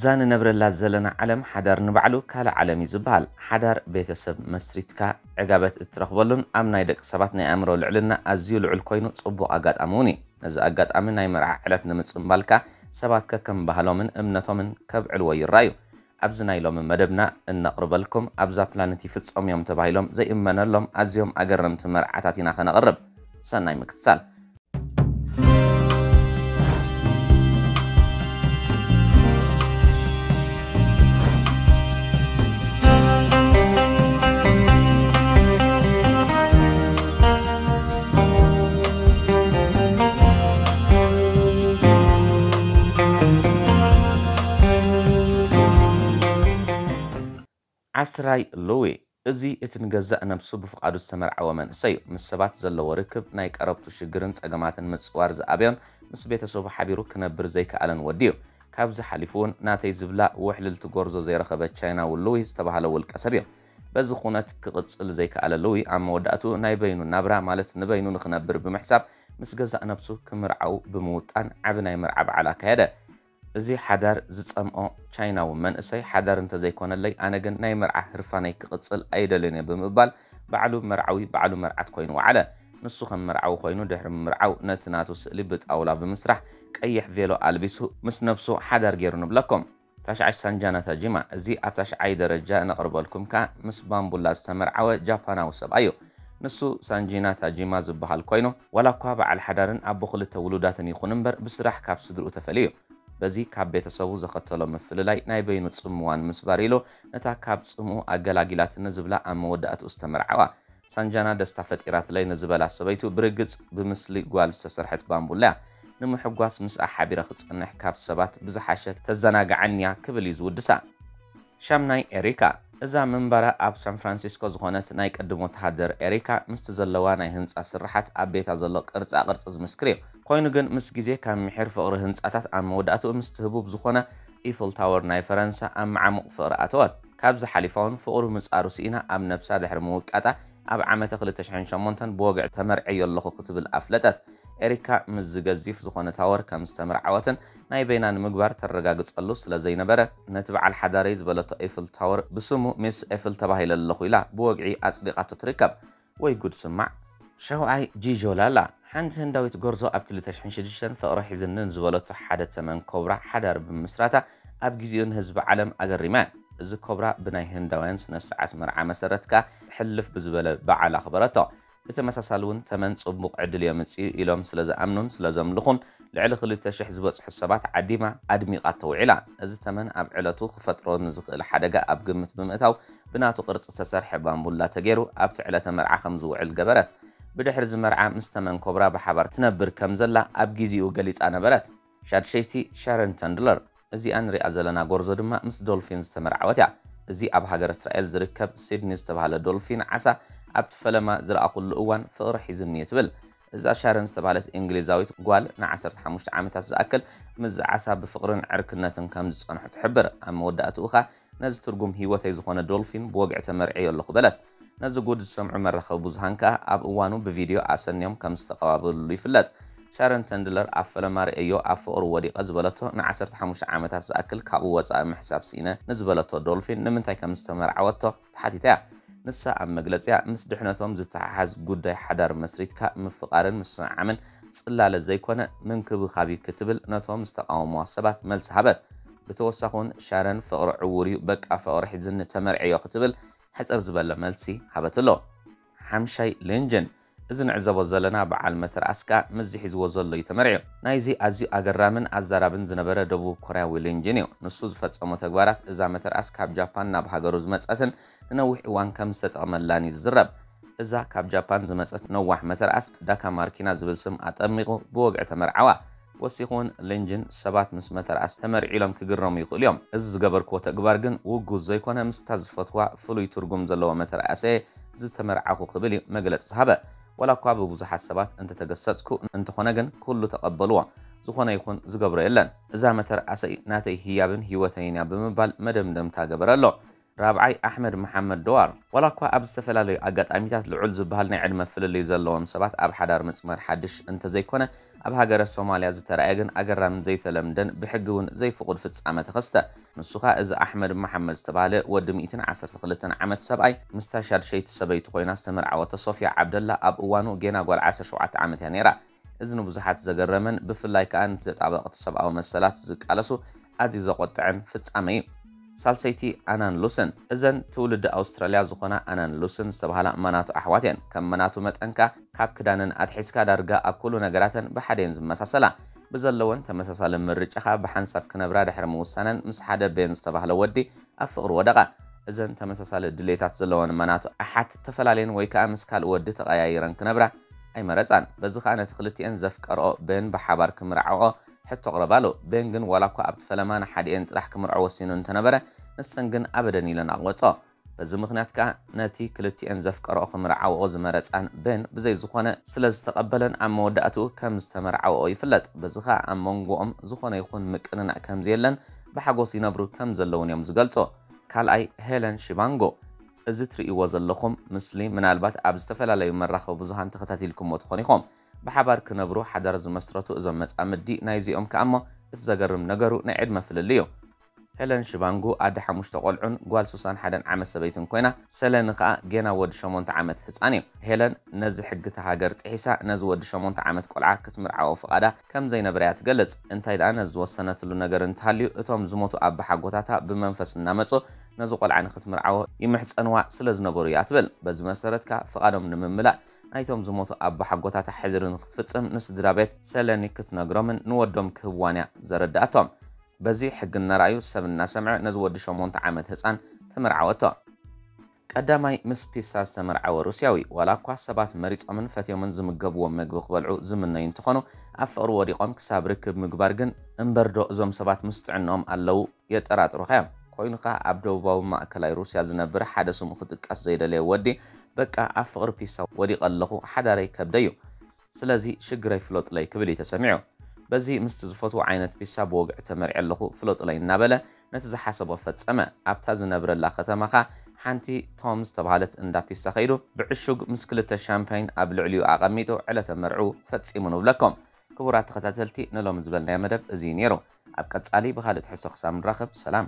እዛ ንነብረላ ዘለና ዓለም ሓዳር ንባዕሉ ካልእ ዓለም እዩ ዝበሃል። ሓዳር ቤተሰብ መስሪትካ ዕጋበት እትረኽበሉን ኣብ ናይ ደቂ ሰባት ናይ ኣእምሮ ልዕልና ኣዝዩ ልዑል ኮይኑ ጽቡቕ ኣጋጣሚ እውን እዩ። ነዚ ኣጋጣሚ ናይ መርዓ ዕለት ንምጽንባልካ ሰባት ከከም ባህሎምን እምነቶምን ከብዕልዎ ይረኣዩ። ኣብዚ ናይ ሎሚ መደብና እነቕርበልኩም ኣብዛ ፕላነት ይፍጸሙ እዮም ተባሂሎም ዘይእመነሎም ኣዝዮም ኣገረምቲ መርዓታት ኢና ከነቕርብ። ሰናይ ምክትታል። ዓስራይ ሉዊ። እዚ እቲ ንገዛእ ነብሱ ብፍቓዱ ዝተመርዓወ መንእሰይ እዩ። ምስ ሰባት ዘለዎ ርክብ ናይ ቀረብቱ ሽግርን ጸገማትን ምጽዋር ዝኣበዮን ምስ ቤተሰቡ ሓቢሩ ክነብር ዘይከኣለን ወዲ እዩ። ካብዚ ሓሊፉ እውን ናተይ ዝብላ ውሕልልቲ ጎርዞ ዘይረኸበ ቻይናዊ ሉዊ ዝተባህለ ውልቀ ሰብ እዩ። በዚ ኩነት ክቕጽል ዘይከኣለ ሉዊ ኣብ መወዳእቱ ናይ በይኑ ናብራ ማለት ንበይኑ ንኽነብር ብምሕሳብ ምስ ገዛእ ነብሱ ክምርዓው ብምውጣን ዓቢ ናይ መርዓ በዓል ኣካየደ። እዚ ሓዳር ዝጸምኦ ቻይናዊ መንእሰይ ሓዳር እንተዘይኮነለይ ኣነ ግን ናይ መርዓ ህርፋነይ ክቕጽል ኣይደልን እየ ብምባል ባዕሉ መርዓዊ ባዕሉ መርዓት ኮይኑ ወዓለ። ንሱ ከም መርዓዊ ኮይኑ ድሕሪ ምምርዓው ነቲ ናቱ ስእሊ ብጣውላ ብምስራሕ ቀይሕ ቬሎ ኣልቢሱ ምስ ነብሱ ሓዳር ገይሩ ንብለኩም። ታሽዓይ ሳንጃና ታጂማ፣ እዚ ኣብ ታሽዓይ ደረጃ ነቕርበልኩም ከኣ ምስ ባምቡላ ዝተመርዓወ ጃፓናዊ ሰብኣይ እዩ። ንሱ ሳንጂና ታጂማ ዝበሃል ኮይኑ ዋላ እኳ በዓል ሓዳርን ኣቦ ክልተ ውሉዳትን ይኹን እምበር ብስራሕ ካብ ስድርኡ ተፈልዩ እዩ። በዚ ካብ ቤተሰቡ ዘኸተሎ ምፍልላይ ናይ በይኑ ጽምዋ ንምስባር ኢሉ ነታ ካብ ጽምኡ ኣገላጊላትኒ ዝብላ ኣብ መወዳእትኡ ዝተመርዓዋ ሳንጃና ደስታ ፈጢራትለይ ንዝበላ ሰበይቱ ብርግጽ ብምስሊ ጓል ዝተሰርሐት ባምቡላ እያ። ንምሕጓስ ምስኣ ሓቢረ ክጸንሕ ካብ ሰባት ብዝሓሸ ተዘናግዓኒ እያ ክብል እዩ ዝውድሳ። ሻምናይ ኤሪካ። እዛ ምንባራ ኣብ ሳን ፍራንሲስኮ ዝኾነት ናይ ቅድም ወተሃደር ኤሪካ ምስቲ ዘለዋ ናይ ህንጻ ስርሓት ኣብ ቤታ ዘሎ ቅርጻ ቅርጺ ዝምስክር እዩ። ኮይኑ ግን ምስ ግዜ ካብ ምሒር ፍቕሪ ህንጻታት ኣብ መወዳእትኡ ምስቲ ህቡብ ዝኾነ ኢፍል ታወር ናይ ፈረንሳ ኣብ መዓሙቕ ፍቕሪ ኣተወት። ካብዚ ሓሊፋ እውን ፍቕሩ ምጻሩ ስኢና ኣብ ነብሳ ድሕሪ ምውቃጣ ኣብ ዓመተ ክልተ ሽሕን ሸሞንተን ብወግዒ ተመርዕዮ ኣለኹ ክትብል ኣፍለጠት። ኤሪካ ምስዚ ገዚፍ ዝኾነ ታወር ከም ዝተመርዓወትን ናይ በይና ንምግባር ተረጋግጸሉ ስለ ዘይነበረ ነቲ በዓል ሓዳረይ ዝበለቶ ኤፍል ታወር ብስሙ ሚስ ኤፍል ተባሂለ ኣለኹ ኢላ ብወግዒ ኣጽዲቓቶ ትርከብ። ወይ ጉድ ስማዕ። ሻውዓይ ጂጆ ላላ። ሓንቲ ህንዳዊት ጎርዞ ኣብ ክልተ ሽሕን ሽዱሽተን ፍቕሪ ሒዝኒ ንዝበለቶ ሓደ ተመን ኮብራ ሓዳር ብምስራታ ኣብ ግዜኡ ንህዝቢ ዓለም ኣገሪማ እያ። እዚ ኮብራ ብናይ ህንዳውያን ስነ ስርዓት መርዓ መሰረት ከኣ ሕልፍ ብዝበለ በዓል ኣኽበረቶ። ብተመሳሳሊ እውን ተመን ጽቡቕ ዕድል የምጽእ እዩ ኢሎም ስለ ዝኣምኑን ስለ ዘምልኹን ልዕሊ ክልተ ሽሕ ዝበጽሑ ሰባት ዓዲማ ኣድሚቓቶ ውዒላ። እዚ ተመን ኣብ ዕለቱ ክፈጥሮ ንዝኽእል ሓደጋ ኣብ ግምት ብምእታው ብናቱ ቅርጺ ዝተሰርሐ ባምቡላ ተገይሩ ኣብቲ ዕለተ መርዓ ከም ዝውዕል ገበረት። ብድሕሪ እዚ መርዓ ምስ ተመን ኮብራ ብሓባር ትነብር ከም ዘላ ኣብ ግዜኡ ገሊጻ ነበረት። ሻድሸይቲ ሻረን ተንድለር። እዚኣ ንሪኣ ዘለና ጎርዞ ድማ ምስ ዶልፊን ዝተመርዓወት እያ። እዚ ኣብ ሃገረ እስራኤል ዝርከብ ሲድኒ ዝተባህለ ዶልፊን ዓሳ ኣብቲ ፈለማ ዝረኣኹሉ እዋን ፍቕሪ ሒዙኒ እዩ ትብል። እዛ ሻረን ዝተባህለት እንግሊዛዊት ጓል ንዓሰርተ ሓሙሽተ ዓመታት ዝኣክል ምስዚ ዓሳ ብፍቕርን ዕርክነትን ከም ዝጸንሑ ትሕብር። ኣብ መወዳእትኡ ኸኣ ነዚ ትርጉም ህይወተይ ዝኾነ ዶልፊን ብወግዒ ተመርዕዮ ኣለኹ በለት። ነዚ ጉድ ዝሰምዑ መራኸቢ ብዙሃን ከኣ ኣብ እዋኑ ብቪድዮ ኣሰንዮም ከም ዝተቐባበልሉ ይፍለጥ። ሻረን ተንድለር ኣብ ፈለማ ርእዮ ኣብ ፍቕሩ ወዲቐ ዝበለቶ ንዓሰርተ ሓሙሽተ ዓመታት ዝኣክል ካብኡ ወጻኢ ምሕሳብ ስኢነ ንዝበለቶ ዶልፊን ንምንታይ ከም ዝተመርዓወቶ ተሓቲታ እያ። ንሳ ኣብ መግለጺኣ ምስ ድሕነቶም ዝተሓሓዝ ጉዳይ ሓዳር መስሪትካ ምፍቓርን ምስዕዓምን ጽላለ ዘይኮነ ምንክብኻብ እዩ ክትብል ነቶም ዝተቓወምዋ ሰባት መልሲ ሃበት። ብተወሳኺ እውን ሻረን ፍቕሪ ዕዉር እዩ በቃ ፍቕሪ ሒዝኒ ተመርዕዮ ክትብል ሕጽር ዝበለ መልሲ ሃበትሎ። ሓምሻይ ሊንጅን። እዚ ንዕዘቦ ዘለና በዓል መተርኣስ ከኣ ምስዚ ሒዝዎ ዘሎ እዩ ተመርዕዩ። ናይዚ ኣዝዩ ኣገራምን ኣዛራብን ዝነበረ ደቡብ ኮርያዊ ሊንጅን እዩ። ንሱ ዝፈጸሞ ተግባራት እዛ መተርኣስ ካብ ጃፓን ናብ ሃገሩ ዝመጸትን ንነዊሕ እዋን ከም ዝተጠቐመላን እዩ ዝዝረብ። እዛ ካብ ጃፓን ዝመጸት ነዋሕ መተርኣስ ዳካ ማርኪና ዝብል ስም ኣጠሚቑ ብወግዒ ተመርዓዋ። ወሲኹ እውን ሊንጅን ሰባት ምስ መተርኣስ ተመርዒሎም ክግረሙ ይኽእሉ እዮም። እዚ ዝገበርክዎ ተግባር ግን ውጉዝ ዘይኮነ ምስታ ዝፈትዋ ፍሉይ ትርጉም ዘለዎ መተርኣሰ ዝተመርዓኹ ክብል እዩ መግለጺ ዝሃበ። ዋላ እኳ ብብዙሓት ሰባት እንተተገሰጽኩ እንተኾነ ግን ኩሉ ተቐበልዎ። ዝኾነ ይኹን ዝገብሮ የለን። እዛ መተርኣሰይ ናተይ ህያብን ህይወተይን እያ ብምባል መደምደምታ ገበረ ኣሎ። ራብዓይ ኣሕመድ መሓመድ ደዋር። ዋላ እኳ ኣብ ዝተፈላለዩ ኣጋጣሚታት ልዑል ዝበሃል ናይ ዕድመ ፍልልይ ዘለዎም ሰባት ኣብ ሓዳር ምጽማድ ሓድሽ እንተዘይኮነ ኣብ ሃገረ ሶማልያ ዝተራእየ ግን ኣገራምን ዘይተለምደን ብሕጊ እውን ዘይፍቑድ ፍጻመ ተኸስተ። ንሱ ኸኣ እዚ ኣሕመድ መሓመድ ዝተባህለ ወዲ ሚእትን ዓሰርተ ክልተን ዓመት ሰብኣይ ምስታ ሻድሸይቲ ሰበይቱ ኮይና ዝተመርዓወቶ ሶፊያ ዓብደላ ኣብ እዋኑ ጌና ጓል ዓሰርተ ሸውዓተ ዓመት እያ ነይራ። እዚ ንብዙሓት ዘገረመን ብፍላይ ከኣ ንተጣበቕቲ ሰብኣዊ መሰላት ዝቃለሱ ኣዝዩ ዘቖጥዕን ፍጻመ እዩ። ሳልሰይቲ ኣናን ሉስን። እዘን ትውልዲ ኣውስትራልያ ዝኾና ኣናን ሉስን ዝተባህላ ማናቱ ኣሕዋት እየን። ከም ማናቱ መጠን ከኣ ካብ ክዳነን ኣትሒዝካ ዳርጋ ኣብ ኩሉ ነገራተን ብሓደ እየን ዝመሳሰላ። ብዘለወን ተመሳሳሊ ምርጫ ከኣ ብሓንሳብ ክነብራ ድሕሪ ምውሳነን ምስ ሓደ ቤን ዝተባህለ ወዲ ኣብ ፍቕሪ ወደቓ። እዘን ተመሳሳሊ ድሌታት ዘለወን ማናቱ ኣሓት ተፈላለየን ወይ ከኣ ምስ ካልእ ወዲ ተቐያይረን ክነብራ ኣይመረጻን። በዚ ከኣ ነቲ ክልቲኤን ዘፍቀርኦ ቤን ብሓባር ክምርዓወኦ ሕቶ ኣቕረባሉ። ቤን ግን ዋላ እኳ ኣብቲ ፈለማ ንሓዲኤን ጥራሕ ክምርዖ ወሲኑ እንተነበረ፣ ንሰን ግን ኣበደን ኢለን ኣቕበጾ። በዚ ምኽንያት ከኣ ነቲ ክልቲኤን ዘፍቀርኦ ክምርዓወኦ ዝመረጻን ቤን ብዘይ ዝኾነ ስለ ዝተቐበለን ኣብ መወዳእትኡ ከም ዝተመርዓወኦ ይፍለጥ። በዚ ከኣ ኣብ መንጎኦም ዝኾነ ይኹን ምቅንናዕ ከም ዘየለን ብሓጎስ ይነብሩ ከም ዘለውን እዮም ዝገልጹ። ካልኣይ ሄለን ሺባንጎ። እዚ ትርእይዎ ዘለኹም ምስሊ ምናልባት ኣብ ዝተፈላለዩ መራኸቢ ብዙሃን ተኸታቲልኩሞ ትኾኑ ኢኹም። ብሓባር ክነብሩ ሓዳር ዝመስረቱ እዞም መጻምዲ ናይዚኦም ከኣ እሞ እቲ ዘገርም ነገሩ ናይ ዕድመ ፍልልይ እዩ። ሄለን ሽባንጉ ኣደ ሓሙሽተ ቆልዑን ጓል ሱሳን ሓደን ዓመት ሰበይትን ኮይና፣ ሰለኒ ከኣ ጌና ወዲ ሸሞንተ ዓመት ህጻን እዩ። ሄለን ነዚ ሕጊ እታ ሃገር ጥሒሳ ነዚ ወዲ ሸሞንተ ዓመት ቆልዓ ክትምርዓዎ ፍቓዳ ከም ዘይነበረ እያ ትገልጽ። እንታይ ደኣ ነዚ ዝወሰነትሉ ነገር እንተሃልዩ እቶም ዝሞቱ ኣባሓጎታታ ብመንፈስ እናመጹ ነዚ ቆልዓ ንክትምርዓዎ ይምሕጸንዋ ስለ ዝነበሩ እያ ትብል። በዚ መሰረት ከኣ ፍቓዶም ንምምላእ ናይቶም ዝሞቱ ኣባሓጎታታ ሕድሪ ንክትፍጽም ንስድራ ቤት ሰለኒ ክትነግሮምን ንወዶም ክህብዋን እያ ዘረድኣቶም። በዚ ሕጊ እናረኣዩ ሰብ እናሰምዐ ነዚ ወዲ ሸሞንተ ዓመት ህጻን ተመርዓወቶ። ቀዳማይ ምስ ፒሳ ዝተመርዓወ ሩስያዊ። ዋላ እኳ ሰባት መሪጾምን ፈትዮምን ዝምገብዎ መግቢ ክበልዑ ዝምነዩ እንትኾኑ ኣብ ፍቕሪ ወዲቖም ክሳብ ርክብ ምግባር ግን እምበርዶ እዞም ሰባት ምስ ጥዕንኦም ኣለዉ የጠራጥሩኻ እዮም። ኮይኑ ከኣ ኣብ ደቡባዊ ማእከላይ ሩስያ ዝነብር ሓደ ስሙ ክጥቀስ ዘይደለየ ወዲ በቃ ኣብ ፍቕሪ ፒሳ ወዲቐ ኣለኹ ሓዳረይ ከብደዩ ስለዚ ሽግረይ ፍለጡለይ ክብል እዩ ተሰሚዑ። በዚ ምስቲ ዝፈትዎ ዓይነት ፒሳ ብወግዒ ተመርዒ ኣለኹ ፍለጡለይ እናበለ ነቲ ዝሓሰቦ ፈጸመ። ኣብታ ዝነብረላ ከተማ ከኣ ሓንቲ ቶም ዝተባህለት እንዳ ፒሳ ከይዱ ብዕሹግ ምስ ክልተ ሻምፓይን ኣብ ልዕሊኡ ኣቐሚጡ ዕለተ መርዕኡ ፈጺሙ ንብለኩም። ክቡራት ተኸታተልቲ ንሎሚ ዝበልናዮ መደብ እዚ እዩ ነይሩ። ኣብ ቀጻሊ ብኻልእ ትሕዝቶ ክሳብ ንራኸብ ሰላም።